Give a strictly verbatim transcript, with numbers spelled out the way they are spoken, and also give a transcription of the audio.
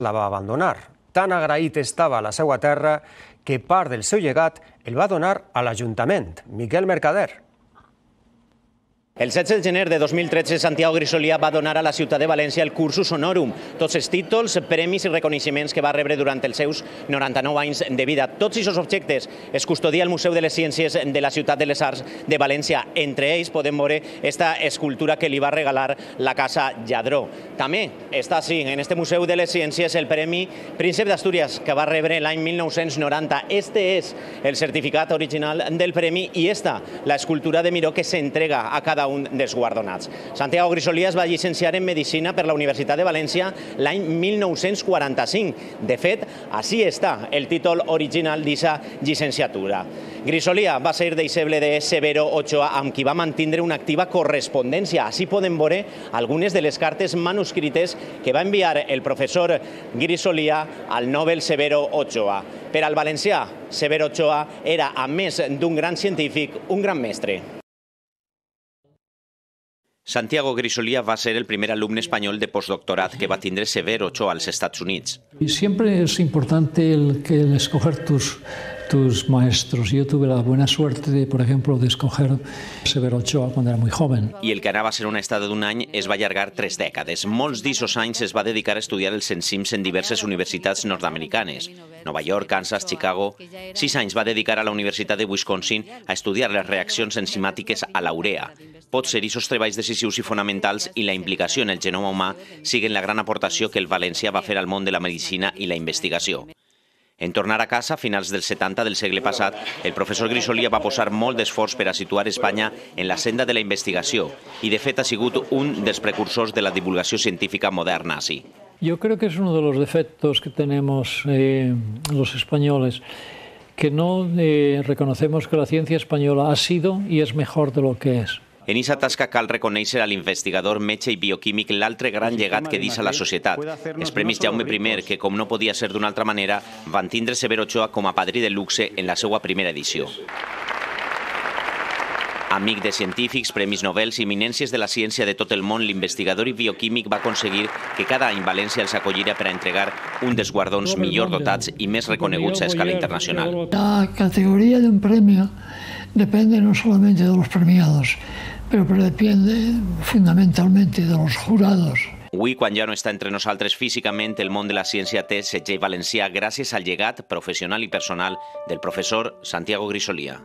la va abandonar. Tan agraït estava a la seva terra que part del seu llegat el va donar a l'Ajuntament. Miquel Mercader. El setze de gener de dos mil tretze, Santiago Grisolia va donar a la ciutat de València el Cursus Honorum, tots els títols, premis i reconeixements que va rebre durant els seus noranta-nou anys de vida. Tots aquests objectes es custodia al Museu de les Ciències de la Ciutat de les Arts de València. Entre ells podem veure esta escultura que li va regalar la Casa Lladró. També està així, en este Museu de les Ciències, el Premi Príncep d'Astúries, que va rebre l'any mil nou-cents noranta. Este és el certificat original del premi i esta, l'escultura de Miró que s'entrega a cada un dels guardonats. Santiago Grisolia es va llicenciar en Medicina per la Universitat de València l'any mil nou-cents quaranta-cinc. De fet, així està el títol original d'aquesta llicenciatura. Grisolia va ser deixeble de Severo Ochoa, amb qui va mantindre una activa correspondència. Així podem veure algunes de les cartes manuscrites que va enviar el professor Grisolia al Nobel Severo Ochoa. Per al valencià, Severo Ochoa era, a més d'un gran científic, un gran mestre. Santiago Grisolia va ser el primer alumne espanyol de postdoctorat que va tindre Severo Ochoa als Estats Units. Siempre es importante el, que el escoger tus, tus maestros. Yo tuve la buena suerte, de, por ejemplo, de escoger Severo Ochoa cuando era muy joven. I el que anava a ser una estada d'un any es va allargar tres dècades. Molts d'aquests anys es va dedicar a estudiar els enzims en diverses universitats nord-americanes. Nova York, Kansas, Chicago. Sis anys va dedicar a la Universitat de Wisconsin a estudiar les reaccions enzimàtiques a la urea. Pot ser aquests treballs decisius i fonamentals i la implicació en el genoma humà siguen la gran aportació que el valencià va fer al món de la medicina i la investigació. En tornar a casa, a finals dels setanta del segle passat, el professor Grisolia va posar molt d'esforç per a situar Espanya en la senda de la investigació i, de fet, ha sigut un dels precursors de la divulgació científica moderna així. Yo creo que es uno de los defectos que tenemos eh, los españoles, que no eh, reconocemos que la ciencia española ha sido y es mejor de lo que es. En aquesta tasca cal reconèixer a l'investigador, metge i bioquímic l'altre gran llegat que deixa la societat. Els Premis Jaume primer, que com no podia ser d'una altra manera, van tindre Severo Ochoa com a padrí de luxe en la seva primera edició. Amic de científics, premis Nobel i eminències de la ciència de tot el món, l'investigador i bioquímic va aconseguir que cada any València els acollira per a entregar un dels guardons millor dotats i més reconeguts a escala internacional. La categoría de un premio depende no solamente de los premiados, pero depende fundamentalmente de los jurados. Avui, quan ja no està entre nosaltres físicament, el món de la ciència té segell valencià gràcies al llegat professional i personal del professor Santiago Grisolia.